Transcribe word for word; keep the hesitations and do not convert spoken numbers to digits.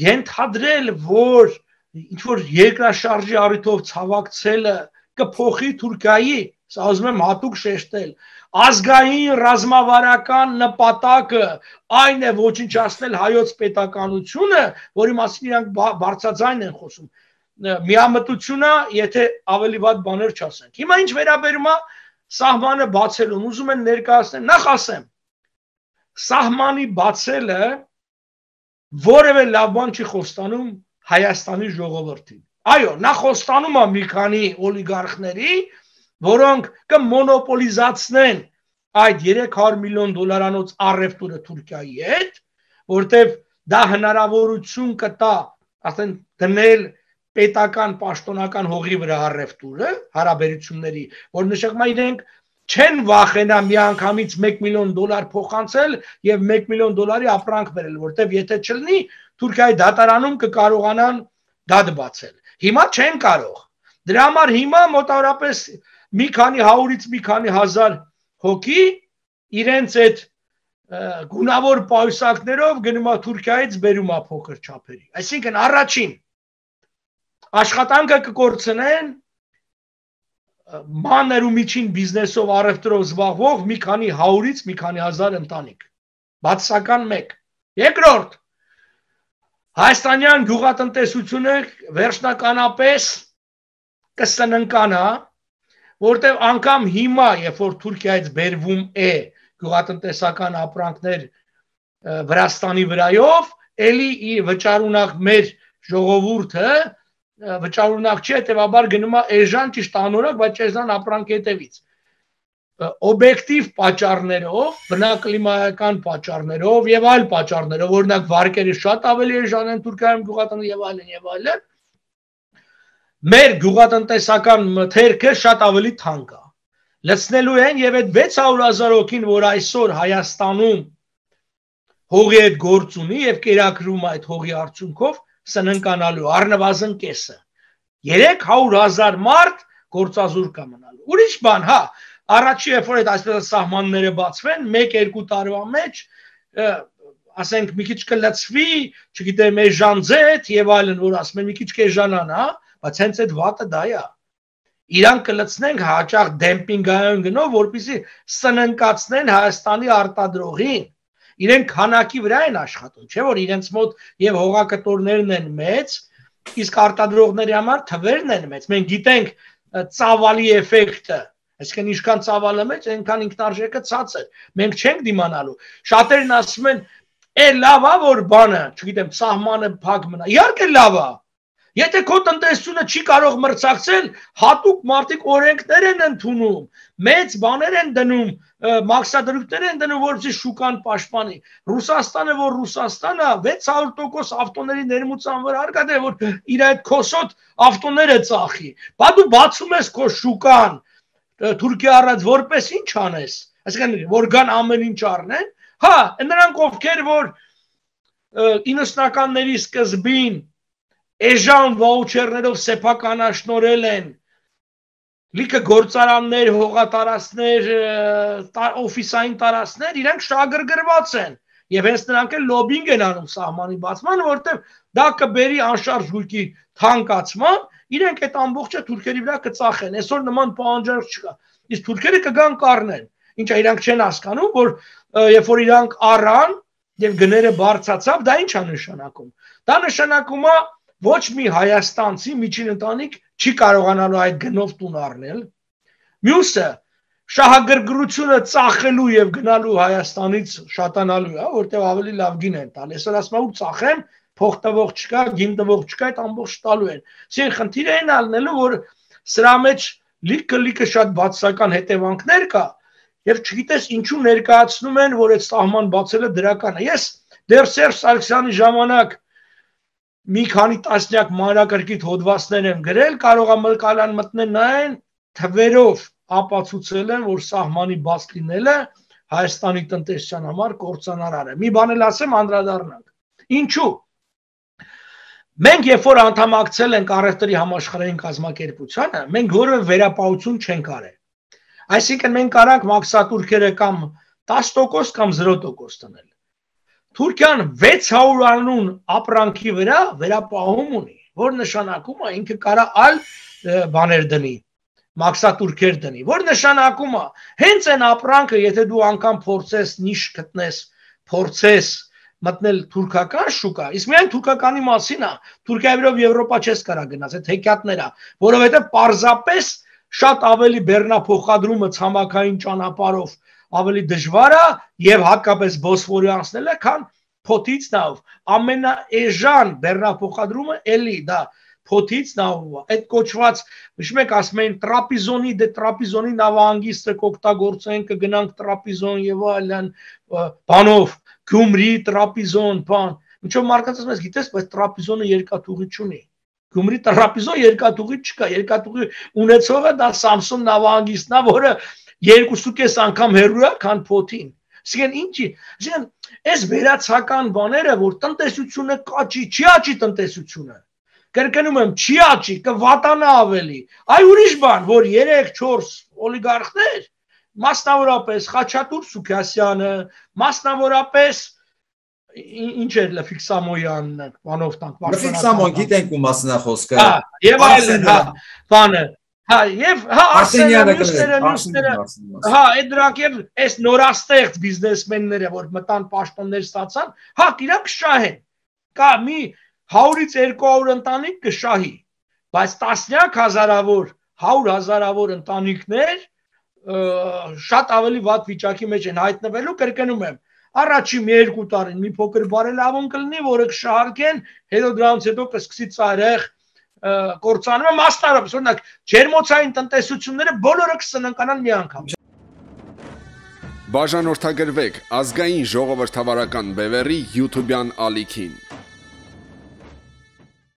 ենթադրել, որ ինչ-որ երկրաշարժի առիթով ցավակցելը կփոխի Թուրքիայի, սա ուզում եմ հատուկ շեշտել, ազգային ռազմավարական նպատակը այն է ոչնչացնել հայոց պետականությունը, որի մասին իրանք բարձրաձայն են խոսում, միամտությունը, եթե ավելի վատ բաներ չասենք։ Հիմա ինչ վերաբերում է սահմանը բացելուն, ուզում են ներկայացնել, նախ ասեմ, սահմանի բացելը որևէ լավ բան չի խոստանում Հայաստանի ժողովրդին։ Այո, նա խոստանում է մի քանի օլիգարխների, որոնք կմոնոպոլիզացնեն այդ երեք հարյուր միլիոն դոլարանոց առևտուրը Թուրքիայի հետ, որտեվ դա հնարավորություն կտա, ասեն, դնել պետական պաշտոնական հողի վրա առևտուրը, հարաբերությունների, որ նշանակում է իրենք չեն վախենա միանգամից մեկ միլիոն դոլար փոխանցել եւ մեկ միլիոն դոլարի ապրանք բերել, որտեվ եթե չլինի Թուրքիայի դատարանում կկարողանան դատ բացել։ Հիմա չեն կարող։ Դրա համար հիմա մոտավորապես մի քանի հարյուրից մի քանի հազար հոգի իրենց այդ գունավոր պայուսակներով գնում է Թուրքիայից բերում է փոքր չափերի։ Այսինքն առաջին աշխատանքը կկորցնեն մանր ու միջին բիզնեսով առևտրով զբաղվող մի քանի հարյուրից մի քանի հազար ընտանիք։ Բացասական մեկ։ Երկրորդ, հայաստանյան գյուղատնտեսությունը վերջնականապես կսննկանա, որտեղ անգամ հիմա, երբ որ Թուրքիայից բերվում է գյուղատնտեսական ապրանքներ Վրաստանի վրայով, էլի վճարունակ մեր ժողովուրդը վճարունակ չի, հետևաբար գնում է էժան ճիշտ անորակ, բայց էժան ապրանք հետևից։ Օբյեկտիվ պատճառներով, բնակլիմայական պատճառներով եւ այլ պատճառներով, օրինակ վարկերը շատ ավելի էժան են Թուրքիայում գյուղատնտեսական եւ այլն եւ այլն, մեր գյուղատնտեսական մթերքը շատ ավելի թանկ է։ Լցնելու են եւ այդ վեց հարյուր հազար հոգին, որ այսօր Հայաստանում հողի հետ գործ ունի եւ կերակրում այդ հողի արդյունքով սննկանալու առնվազն կեսը։ երեք հարյուր հազար մարդ գործազուրկ կա մնալու։ Ուրիշ բան, հա, առաջի երբ որ այդ այսպես սահմանները բացվեն, մեկ-երկու տարվա մեջ, ասենք մի քիչ կլցվի, չգիտեմ, էժանձեթ եւ այլն, որ ասում են մի քիչ կեժանան, հա, բայց հենց այդ վատը դա է։ Իրանք կլցնենք հաճախ դեմպինգային գնով, որպեսզի սննկացնեն Հայաստանի արտադրողին։ Իրենք քանակի վրա են աշխատում, չէ՞ որ իրենց մոտ եւ հողակտորներն են մեծ, իսկ արտադրողների համար թվերն են մեծ։ Մենք գիտենք ծավալի էֆեկտը, այսինքն ինչքան ծավալը մեծ, այնքան ինքնարժեքը ցածր։ Մենք չենք դիմանալու։ Շատերն ասում են, «Է լավ է որ բանը, չգիտեմ, սահմանը փակ մնա»։ Իհարկե լավ է։ Եթե քո տնտեսությունը չի կարող մրցակցել, հատուկ մարդիկ օրենքներ են ընդունում, մեծ բաներ են դնում, մաքսադրույքներ են դնում, որպեսզի շուկան պաշտպանի։ Ռուսաստանը, որ Ռուսաստանը վեց հարյուր տոկոս ավտոների ներմուծան վրա արկա, որ իր այդ քոսոտ ավտոները ծախի։ Բա դու բացում ես քո շուկան Թուրքիա առած որպես ինչ անես։ Այսինքն որ գան ամեն ինչ առնեն։ Հա, նրանք ովքեր որ իննսունականների սկզբին էժան վաուչերներով սեփականաշնորել են լիքը գործարաններ, հողատարածքներ, օֆիսային տարածքներ, իրենք շահագրգռված են եւ հենց նրանք էլ լոբինգ են անում սահմանի բացման, որտեղ դա կբերի անշարժ գույքի թանկացման, իրենք այդ ամբողջը թուրքերի վրա կծախեն։ Այսօր նման պահանջարկ չկա։ Իսկ թուրքերը կգան կառնեն։ Ինչա իրանք չեն հասկանում, որ երբ որ իրանք առան եւ գները բարձրացավ, դա ի՞նչ է նշանակում։ Դա նշանակում է ոչ մի հայաստանցի միջին ընտանիք չի կարողանալու այդ գնով տուն առնել։ Մյուսը շահագրգռությունը ծախելու եւ գնալու Հայաստանից շատանալու է, որտեղ ավելի լավ գին են տալ։ Այսօր ասում եմ ու ծախեմ, փող տվող չկա, գին տվող չկա, այդ ամբողջ տալու են։ Սին խնդիրը այն ալնելու, որ սրա մեջ լիքը-լիքը շատ բացասական հետևանքներ կա եւ չգիտես ինչու ներկայացնում են, որ այդ սահման բացելը դրական է։ Ես դեռ Սերժ Սարգսյանի ժամանակ մի քանի տասնյակ մանրակրկիտ հոդվածներ եմ գրել, կարող է մլկալան մտնեն նայեն, թվերով ապացուցել են, որ սահմանի բաց լինելը Հայաստանի տնտեսության համար կործանարար է։ Մի բան էլ ասեմ, անդրադառնանք։ Ինչու՞։ Մենք երբ որ անդամակցել ենք առևտրի համաշխարհային կազմակերպությանը, մենք որևէ վերապահություն չենք արել։ Այսինքն մենք կարանք մաքսատուրքերը կամ տասը տոկոս կամ զրո տոկոս տնել։ Թուրքիան վեց հարյուր անուն ապրանքի վրա վերապահում ունի, որ նշանակում է ինքը կարա այլ բաներ դնի, մաքսատուրքեր դնի, որ նշանակում է հենց այն ապրանքը, եթե դու անգամ փորձես նիշ գտնես, փորձես մտնել թուրքական շուկա, իսկ միայն թուրքականի մասին է, Թուրքիայով Եվրոպա չես կարա գնաս, այդ հեքիաթները, որովհետև պարզապես շատ ավելի բեռնափոխադրումը ցամաքային ճանապարհով ավելի դժվար է եւ հատկապես Բոսֆորի անցնելը, քան փոթից նավ, ամենաէժան բեռնափոխադրումը էլի դա փոթից նավով, այդ կոչված, հիշում եք ասում էին տրապիզոնի, դե տրապիզոնի նավահանգիստը կօգտագործեն, կգնանք տրապիզոն եւ այլն, բանով, Գյումրի, տրապիզոն, բան, ինչով մարդկանց ասում ես, գիտես, բայց տրապիզոնը երկաթուղի չունի, Գյումրի տրապիզոն երկաթուղի չկա, երկաթուղի ունեցողը դա Սամսոն նավահանգիստն է, որը երկուսուկես անգամ հեռու է, քան փոթին, ասեն ինչի, ասեն, այս վերացական բաները, որ տնտեսությունը կաճի, չի աճի տնտեսությունը, կրկնում եմ, չի աճի, կվատանա ավելի, այ ուրիշ բան, որ երեք չորս օլիգարխներ, մասնավորապես Խաչատուր Սուքասյանը, մասնավորապես ինչ էր Լֆիկ Սամոյանն, բանով տանք, Լֆիկ Սամոն գիտենք ու մասնախոսքը, եւ այլն, հա, բանը, հա, եւ հա Արսենյանը, մյուսները, հա, այդ դրանք եւ այս նորաստեղծ բիզնեսմենները, որ մտան պաշտոններ ստացան, հա, իրանք շահեն, կա մի հարյուրից երկու հարյուր ընտանիք կշահի, բայց տասնյակ հազարավոր, հարյուր հազարավոր ընտանիքներ շատ ավելի վատ վիճակի մեջ են հայտնվելու, կրկնում եմ, առաջի մի երկու տարին մի փոքր բարելավում կլինի, որը կշահարկեն, հետո դրանից հետո կսկսի ծայրեղ կործանումը, մասնավորապես, օրինակ, ջերմոցային տնտեսությունները բոլորը կսննկանան մի անգամ։ Բաժանորդագրվեք ազգային ժողովրդավարական բևեռի YouTube-յան ալիքին։